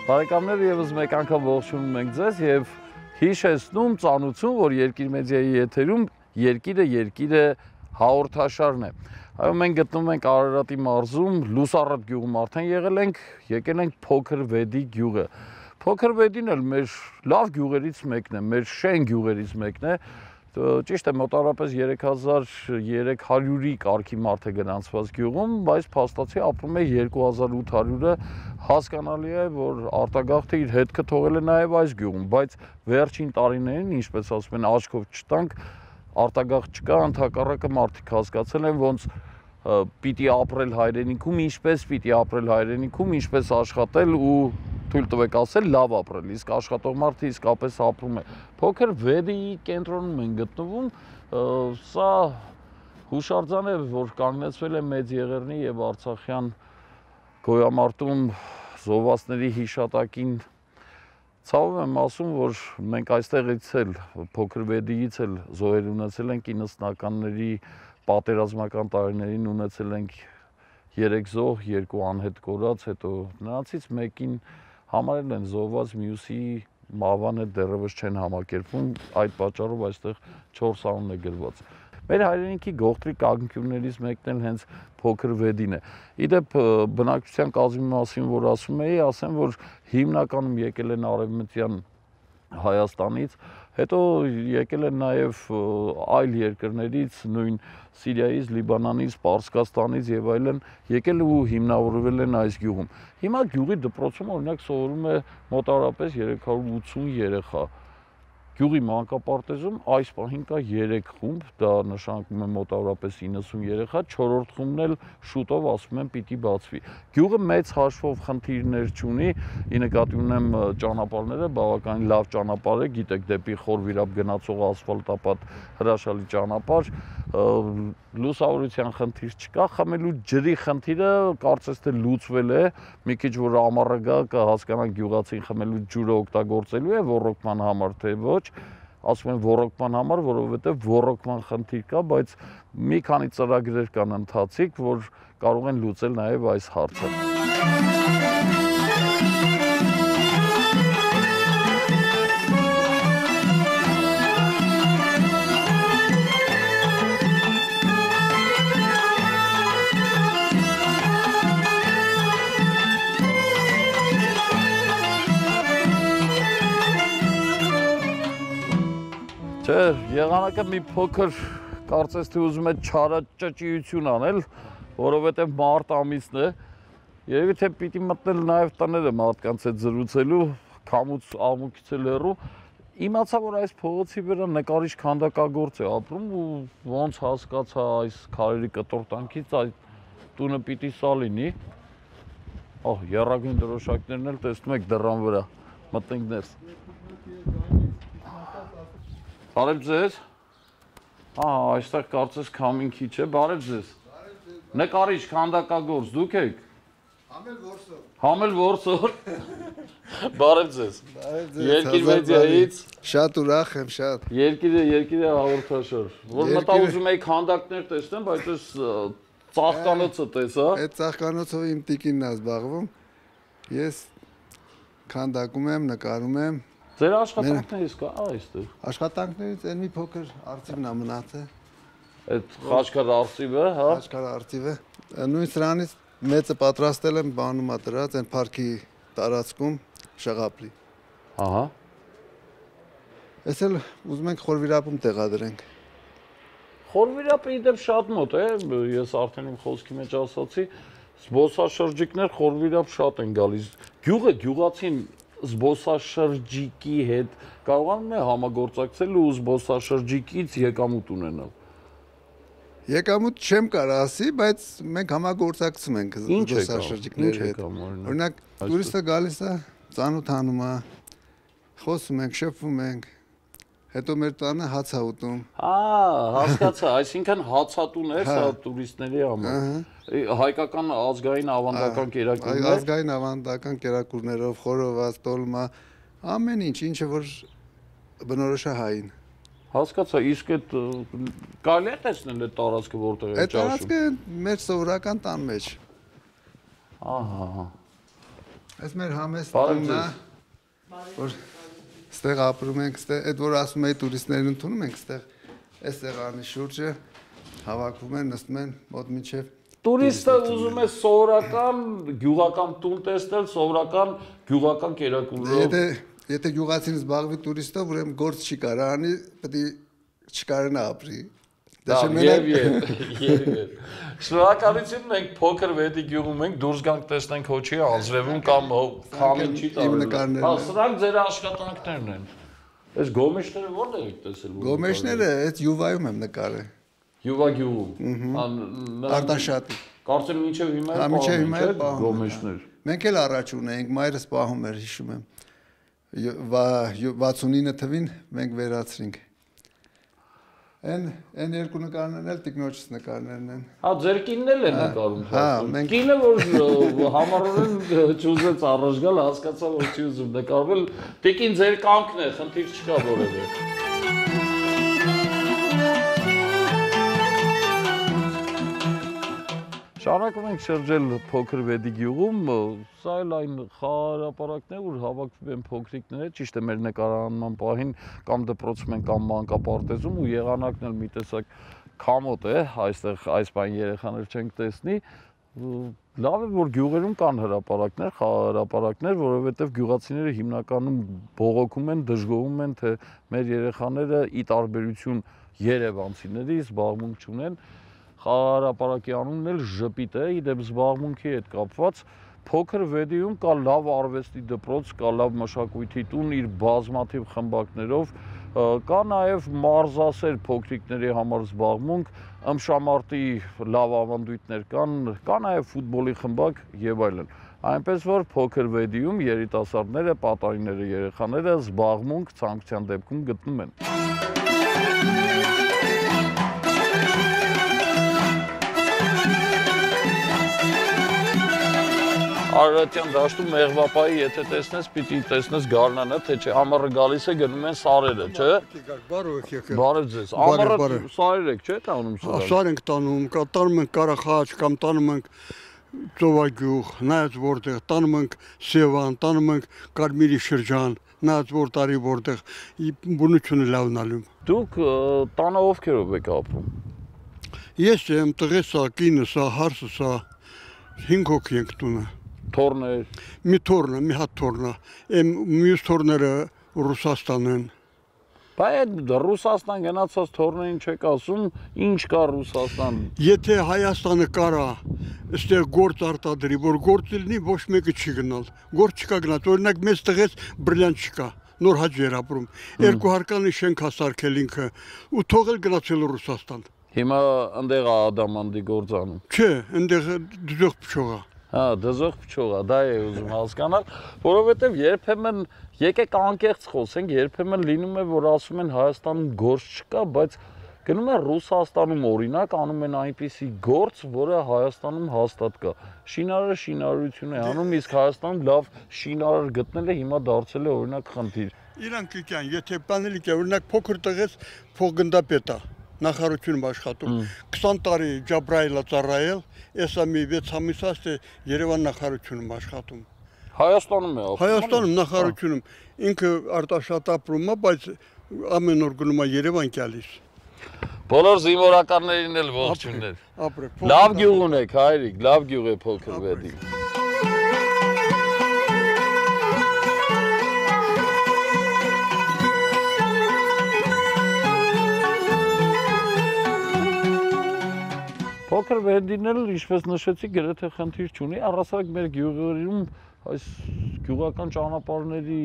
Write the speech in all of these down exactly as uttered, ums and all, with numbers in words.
Բարեկամներ եւս մեկ անգամ ողջունում ենք ձեզ եւ հիշեցնում ծանուցում, որ Երկիր մեդիայի եթերում Երկիրը Երկիրը հաղորդաշարն է։ Այո, մենք գտնվում ենք Արարատի մարզում, Լուսառատ գյուղում արդեն եղել ենք, եկել ենք Փոքր Վեդի գյուղը։ Փոքր Վեդին էլ մեր լավ գյուղերից մեկն է, մեր շեն գյուղերից մեկն է։ Ճիշտ է, մոտավորապես երեք հազար երեք հարյուրի կարգի մարդ է գրանցված գյուղում, բայց փաստացի ապրում է երկու հազար ութ հարյուրը, հասկանալի է, որ արտագաղթը իր հետքը թողել է նաև այս գյուղում, բայց վերջին տարիներին, ինչպես ասում են, աչքով չտանք, արտագաղթ չկա, ընդհակառակը մարդիկ հասկացել են, ոնց պիտի ապրել հայրենիքում, ինչպես պիտի ապրել հայրենիքում, ինչպես աշխատել ու թույլ տվեք ասել լավ ապրել, իսկ աշխատող մարդը իսկապես ապրում է։ Փոքր Վեդիի կենտրոնում են գտնվում, սա հուշարձան է, որ կանգնեցվել է Մեծ Եղեռնի եւ Արցախյան գոյամարտում զոհվածների հիշատակին։ Ցավով եմ ասում, որ մենք այստեղից էլ Փոքր Վեդիից էլ զոհեր ունեցել ենք իննսնականների պատերազմական տարիներին ունեցել ենք երեք զոհ, երկու անհետ կորած, հետո նրանցից մեկին համարել են զոհված, մյուսի մահվան հետ դեռևս չեն համակերպվում, այդ պատճառով այստեղ չորս անուն է գրված։ Մեր հայրենիքի գողտրի կանգնություններից մեկն էլ հենց Փոքր Վեդին է։ Իդեպ բնակչության կազմի մասին, որ ասում էի, ասեմ, որ հիմնականում եկել են արևմտյան Հայաստանից, հետո եկել են նաև այլ երկրներից, նույն Սիրիայից, Լիբանանից, Պարսկաստանից եւ այլն, եկել ու հիմնավորվել են այս գյուղում։ Հիմա գյուղի դպրոցում օրինակ սովորում է մոտավորապես երեք հարյուր ութսուն երեխա։ Գյուղի մանկապարտեզում այս պահին կա երեք խումբ, դա նշանակում է մոտավորապես իննսուն երեխա, չորրորդ խումբն էլ շուտով ասում են պիտի բացվի։ Գյուղը մեծ հաշվով խնդիրներ չունի, ի նկատի ունեմ ճանապարհները, բավականին լավ ճանապարհ է, գիտեք, դեպի Խորվիրապ գնացող ասֆալտապատ հրաշալի ճանապարհ, լուսավորության խնդիր չկա, խմելու ջրի խնդիրը կարծես թե լուծվել է, մի քիչ որ ամառը գա կհասկանանք գյուղացին խմելու ջուրը օգտագործելու է ոռոգման համար թե ոչ, ասում են ոռոգման համար, որովհետև ոռոգման խնդիր կա, բայց մի քանի ծրագրեր կան ընթացիկ, որ կարող են լուծել նաև այս հարցը։ Չէ, եղանակը մի փոքր կարծես թե ուզում է չարաճճիություն անել, որովհետև մարտ ամիսն է, երևի թե պիտի մտնել նաև տները մարդկանց հետ զրուցելու, քամուց աղմուկից էլ հեռու, իմացա, որ այս փողոցի վրա նկարիչ քանդակագործ է ապրում ու ոնց հասկացա այս քարերի կտորտանքից այդ տունը պիտի սա լինի, ահ, եռագույն դրոշակներն էլ տեսնում եք դռան վրա, մտնենք ներս։ Բարև ձեզ, այստեղ կարծես քամին քիչ է, բարև ձեզ, նկարիչ, քանդակագործ, դուք եք։ Համել որսոր։ Համել որսոր, բարև ձեզ, Երկիր մեդիայից։ Շատ ուրախ եմ, շատ։ Երկիրը, Երկիրը հաղորդաշար, որ մտա ուզում էի քանդակներ տեսնեմ, բայց այս ծաղկանոցը տեսա։ Այդ ծաղկանոցով իմ տիկինն է զբաղվում, ես քանդակում եմ, նկարում եմ։ Ձեր աշխատանքներից կա այստեղ։ Աշխատանքներից այն մի փոքր արծիվն է մնացել։ Այդ խաչքար արծիվը, հա։ Խաչքար արծիվը։ Նույն սրանից մեծը պատրաստել եմ, բանում է դրած, այն парքի տարածքում շղապլի։ Ահա։ Էս էլ ուզում ենք Խորվիրապում տեղադրենք։ Խորվիրապը իդեպ շատ մոտ է, ես արդեն իմ խոսքի մեջ ասացի, զբոսաշրջիկներ Խորվիրապ շատ են գալիս։ Գյուղը գյուղացին զբոսաշրջիկի հետ կարողանում է համագործակցել ու զբոսաշրջիկից եկամուտ ունենալ։ Եկամուտ չեմ կարող ասի, բայց մենք համագործակցում ենք զբոսաշրջիկների հետ։ Օրինակ, տուրիստը գալիս է, ծանոթանում է, խոսում ենք, շփվում ենք, հետո մեր տանը հաց է ուտում։ Հա, հասկացա, այսինքն հացատուն է սա տուրիստների համար։ Հայկական ազգային ավանդական կերակուրներ։ Ազգային ավանդական կերակուրներով, խորոված, տոլմա, ամեն ինչ, ինչը որ բնորոշ է հային։ Հասկացա, իսկ այդ կարելի է տեսնել այդ տարածքը որտեղ է ճաշում։ Այդ տարածքը մեր սովորական տան մեջ։ Ահա։ Այս մեր համեստ տունն է, որ ստեղ ապրում ենք, այդ որ ասում էի տուրիստներին ընդունում ենք, ստեղ այս սեղանի շուրջը հավաքվում են, նստում են մոտ մինչև Տուրիստը ուզում է սովորական գյուղական տուն տեսնել, սովորական գյուղական կերակուրով։ Եթե եթե գյուղացին զբաղվի տուրիստով, ուրեմն գործ չի կարա անի, պետք է չկարենա ապրի։ Եվ եւ Շնորհակալություն, մենք փոքր վետի գյուղում ենք, դուրս գանք տեսնենք հոչի անձրևում կամ քամին չի տալու։ Հա, սրանք ձեր աշխատանքներն են։ Այս գոմեշները որտեղ եք տեսել։ Գոմեշները այդ Յուվայում եմ նկարել։ Յուվա գյուղում։ Արտաշատի։ Կարծեմ մինչև հիմա է մինչև հիմա է գոմեշներ։ Մենք էլ առաջ ունեինք, մայրս պահում էր, հիշում եմ։ վաթսունինը թվին մենք վերացրինք։ Են են երկու նկարներն էլ տիկնոջս նկարներն են։ Հա, ձեր կինն էլ է նկարում։ Հա, մենք կինը որ համառորեն չուզեց առաջ գալ, հասկացա որ չի ուզում նկարվել, տիկին ձեր կամքն է, խնդիր չկա որևէ։ Շարունակում ենք շրջել փոքր վեդի գյուղում, սա էլ այն խաղահարապարակն է, որ հավաքվում են փոքրիկները, ճիշտ է մեր նկարանման պահին կամ դպրոցում են կամ մանկապարտեզում ու եղանակն էլ մի տեսակ քամոտ է, այստեղ այս բան երեխաներ չենք տեսնի, լավ է որ գյուղերում կան հրապարակներ, խաղահարապարակներ, որովհետև գյուղացիները հիմնականում բողոքում են, դժգոհում են, թե մեր երեխաները ի տարբերություն երևանցիների զբաղմունք չունեն։ Խաղահարապարակի անունն էլ ժպիտ է, իդեպ զբաղմունքի հետ կապված, փոքր վեդիում կա լավ արվեստի դպրոց, կա լավ մշակույթի տուն իր բազմաթիվ խմբակներով, կա նաև մարզասեր փոքրիկների համար զբաղմունք, ըմբշամարտի լավ ավանդույթներ կան, կա նաև ֆուտբոլի խմբակ եւ այլն։ Այնպես որ փոքր վեդիում երիտասարդները, պատանիները, երեխաները զբաղմունք ցանկության դեպքում գտնում են։ Արարատյան դաշտում մեղվապայի եթե տեսնես, պիտի տեսնես գարնանը, թե չէ, ամառը գալիս է գնում են սարերը, չէ։ Բարև ձեզ։ Ամառը սարեր եք, չէ՞, տանում սարեր։ Սար ենք տանում, տանում ենք Ղարախաչ կամ տանում ենք Ծովագյուղ, նայած որտեղ, տանում ենք Սևան, տանում ենք Կարմիրի շրջան, նայած որ տարի որտեղ բնությունը լավն ալում։ Դուք տանը ովքերով եք ապրում։ Ես եմ, տղեսա, կինսա, հարսսա, հինգ հոգի ենք տունը։ Թորներ։ Մի թորնը, մի հատ թորնը, եմ մյուս թորները Ռուսաստան են։ Բայց Ռուսաստան գնացած թորներին չեք ասում, ինչ կա Ռուսաստան։ Եթե Հայաստանը կարա, այստեղ գործ արտադրի, որ գործ լինի, ոչ մեկը չի գնալ։ Գործ չկա գնալ, օրինակ մեծ տղես բրիլիանտ չկա, նոր հաճ էր ապրում։ Երկու հարկանի շենք հասարքել ինքը ու թողել գնացել Ռուսաստան։ Հիմա ընդեղ ադամանդի գործանում։ Չէ, ընդեղ դժոխ փչողա։ Հա, դժոխ փչողա, դա է ուզում հասկանալ, որովհետև երբեմն եկեք անկեղծ խոսենք, երբեմն լինում է, որ ասում են Հայաստանում գործ չկա, բայց գնում են Ռուսաստանում օրինակ անում են այնպիսի գործ, որը Հայաստանում հաստատ կա։ Շինարարը շինարարություն է անում, իսկ Հայաստանում լավ շինարար գտնելը հիմա դարձել է օրինակ խնդիր։ Իրանք կան, եթե բանելի կա, օրինակ փոքր տղես փոխգնդապետ է, նախարարությունում աշխատում, քսան տարի Ջաբրայելը ծառայել, էսա մի վեց ամիս է Երևան նախարարությունում աշխատում։ Հայաստանում է ապրում։ Հայաստանում նախարարությունում ինքը արտաշատ ապրում է, բայց ամեն օր գնում է Երևան գալիս։ Բոլոր զինվորականներին էլ ողջույններ։ Լավ գյուղ ունեք, հայրիկ, լավ գյուղ է փոքր վեդի։ Փոքր վեդին էլ, ինչպես նշեցի, գրեթե խնդիր չունի, առասարակ մեր գյուղերում այս գյուղական ճանապարհների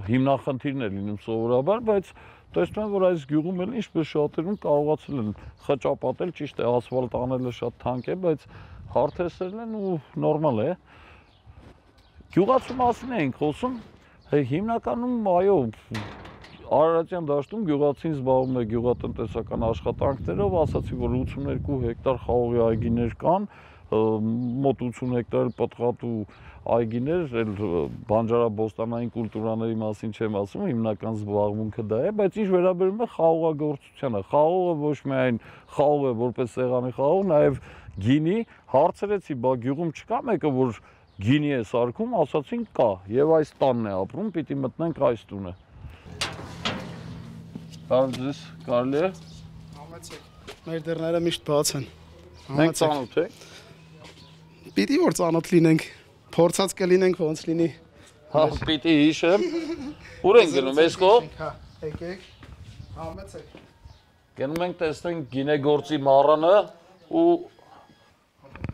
հիմնախնդիրն է լինում սովորաբար, բայց տեսնում եմ, որ այս գյուղում էլ ինչպես շատերում կարողացել են խճապատել, ճիշտ է, ասֆալտ անելը շատ թանկ է, բայց հարթեսել են ու նորմալ է։ Գյուղացու մասին էինք խոսում, հիմնականում, այո, Արարատյան դաշտում գյուղացին զբաղվում է գյուղատնտեսական աշխատանքներով, ասացի, որ ութսուներկու հեկտար խաղողի այգիներ կան, մոտ ութսուն հեկտար պտղատու այգիներ, էլ բանջարաբոստանային կուլտուրաների մասին չեմ ասում, հիմնական զբաղմունքը դա է, բայց ինչ վերաբերում է խաղողագործությանը, խաղողը ոչ միայն խաղող է որպես սեղանի խաղող, նաև գինի, հարցրեցի, բա գյուղում չկա մեկը, որ գինի է սարքում, ասացին կա, եւ այս տանն է ապրում, պիտի մտնենք այս տունը։ Բարև ձեզ, կարելի է։ Համեցեք։ Մեր դռները միշտ բաց են։ Մենք ծանոթ ենք։ Պիտի որ ծանոթ լինենք, փորձած կլինենք ոնց լինի։ Հա, պիտի հիշեմ։ Ուր են գնում, այս կողմ։ Հա, եկեք։ Համեցեք։ Գնում ենք տեսնենք գինեգործի մառանը ու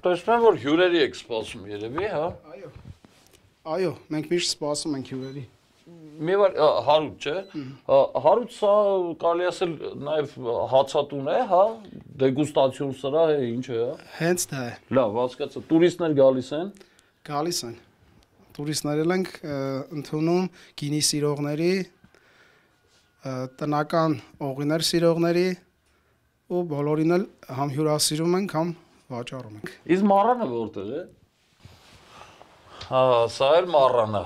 տեսնեմ որ հյուրերի եք սպասում երևի, հա։ Այո։ Այո, մենք միշտ սպասում ենք հյուրերի։ Մի վար հարուտ չէ։ Հարուտ սա կարելի ասել նաև հացատուն է, հա, դեգուստացիոն սրահ է, ինչ է, հա։ Հենց դա է։ Լավ, հասկացա։ Տուրիստներ գալիս են։ Գալիս են։ Տուրիստներ ենք ընդունում գինի սիրողների, տնական օղիներ սիրողների ու բոլորին էլ համ հյուրասիրում ենք, համ վաճառում ենք։ Իսկ մառանը որտեղ է։ Հա, սա էլ մառանը։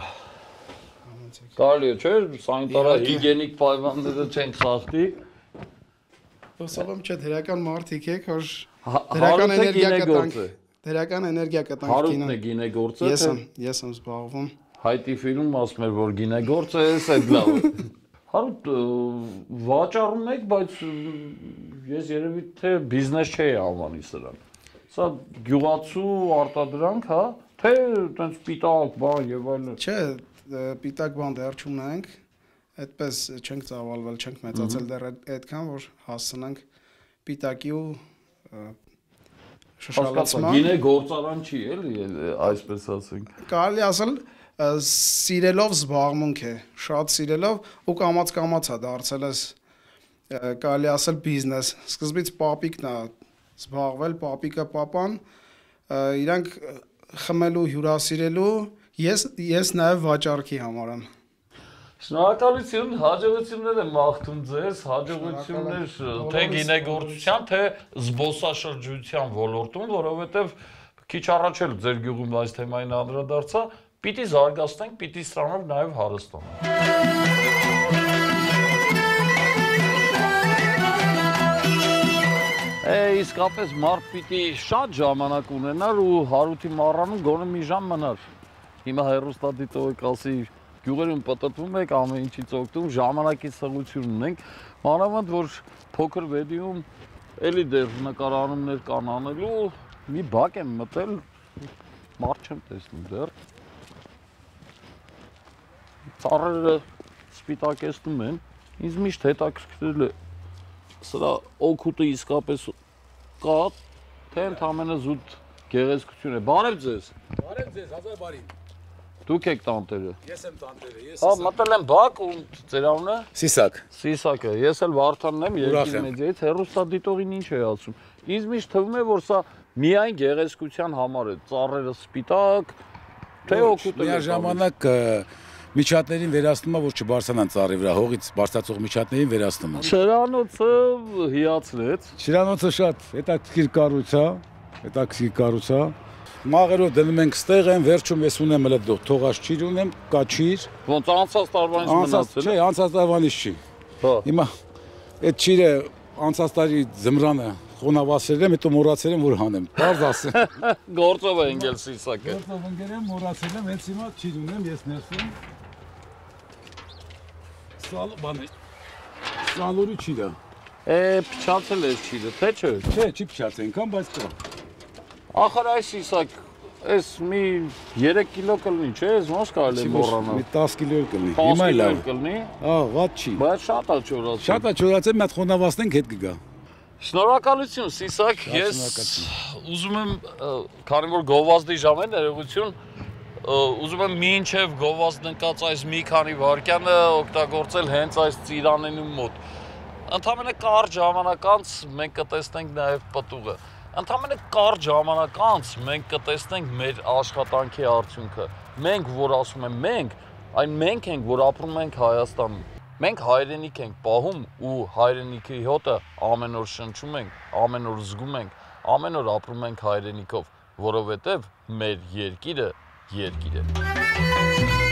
Կարելի է, չէ՞, սանիտարա հիգիենիկ պայմանները չենք սախտի։ Հուսով եմ չէ, դրական մարդիկ եք, որ դրական էներգիա կտանք։ Դրական էներգիա կտանք գինը։ Հարուտն է գինեգործը։ Ես եմ, ես եմ զբաղվում։ Հայտի ֆիլմում ասում էր, որ գինեգործը է, էդ լավ է։ Հարուտ վաճառում եք, բայց ես երևի թե բիզնես չէի անվանի սրան։ Սա գյուղացու արտադրանք, հա, թե տենց պիտակ բան եւ այլն։ Չէ, պիտակ բան դեռ չունենք, այդպես չենք ծավալվել, չենք մեծացել դեռ այդքան, որ հասցնենք պիտակի ու շշալացման։ Գինե գործարան չի էլի, այսպես ասենք։ Կարելի ասել սիրելով զբաղմունք է, շատ սիրելով ու կամաց-կամաց է դարձել ես կարելի ասել բիզնես։ Սկզբից պապիկն է զբաղվել, պապիկը պապան, իրանք խմելու, հյուրասիրելու, ես ես նաև վաճառքի համար եմ։ Շնորհակալություն, հաջողություններ եմ մաղթում ձեզ, հաջողություններ թե գինեգործության, թե զբոսաշրջության ոլորտում, որովհետև քիչ առաջ էլ ձեր գյուղում այս թեմային անդրադարձա, պիտի զարգացնենք, պիտի ստանանք նաև հարստանալ։ Է, իսկապես մարդ պիտի շատ ժամանակ ունենար ու Հարութի մառանում գոնե մի ժամ մնար։ Հիմա հեռուստադիտողը կասի գյուղերում պտտվում եք, ամեն ինչից օգտվում, ժամանակի սղություն ունենք, մանավանդ որ փոքր վեդիում էլի դեռ նկարանումներ կան անելու, մի բակ եմ մտել, մարդ չեմ տեսնում դեռ։ Ծառերը սպիտակեցնում են, ինձ միշտ հետաքրքրել է սրա օգուտը իսկապես կա, թե ընդամենը զուտ գեղեցկություն է։ Բարև ձեզ։ Բարև ձեզ, հազար բարի։ Դուք եք տանտերը։ Ես եմ տանտերը, ես Հա, մտել եմ բակ ու ձեր անունը։ Սիսակ։ Սիսակը։ Ես էլ Վարդանն եմ, Երկիր մեդիայից, հեռուստադիտողին ինչ է ասում։ Ինձ միշտ թվում է, որ սա միայն գեղեցկության համար է, ծառերը սպիտակ, թե օգուտը։ Միաժամանակ միջատներին վերացնում է, որ չբարձրանան ծառի վրա, հողից բարձրացող միջատներին վերացնում է։ Շրանոցը հիացրեց։ Շրանոցը շատ հետաքրքիր կառույց է, հետաքրքիր կառույց է։ Մաղերով դնում ենք ստեղ են, վերջում ես ունեմ էլ թողած ճիր ունեմ, կաչիր։ Ոնց անցած տարվանից մնացել։ Չէ, անցած տարվանից չի։ Հա։ Հիմա այդ ճիրը անցած տարի զմրանը խոնավացրել եմ, հետո մոռացել եմ, որ հանեմ։ Բարձ ասեմ։ Գործով է ընկել Սիսակը։ Գործով ընկել եմ, մոռացել եմ, հենց հիմա ճիր ունեմ, ես ներսում։ Սալ բան է։ Սալորի ճիրը։ Է, փչացել է ճիրը, թե չէ։ Չէ, չի փչացել այնքան, բայց կա։ Ախր այս Սիսակ, այս մի երեք կիլո կլինի, չէ՞, ես ոնց կարելի է մոռանալ։ Մի դես կիլո կլինի։ Հիմա լավ կլինի։ Հա, ված չի։ Բայց շատ է չորացել։ Շատ է չորացել, մի հատ խոնավացնենք հետ կգա։ Շնորհակալություն Սիսակ, ես ուզում եմ, քանի որ գովազդի ժամ է ներողություն, ուզում եմ մինչև գովազդ ընկած այս մի քանի վայրկյանը օգտագործել հենց այս ծիրանենու մոտ։ Ընդամենը կարճ ժամանակ անց մենք կտեսնենք նաև պտուղը։ Ընդամենը կարճ ժամանակ անց մենք կտեսնենք մեր աշխատանքի արդյունքը։ Մենք, որ ասում եմ մենք, այն մենք ենք, որ ապրում ենք Հայաստանում։ Մենք հայրենիք ենք պահում ու հայրենիքի հոտը ամեն օր շնչում ենք, ամեն օր զգում ենք, ամեն օր ապրում ենք հայրենիքով, որովհետև մեր երկիրը երկիր է։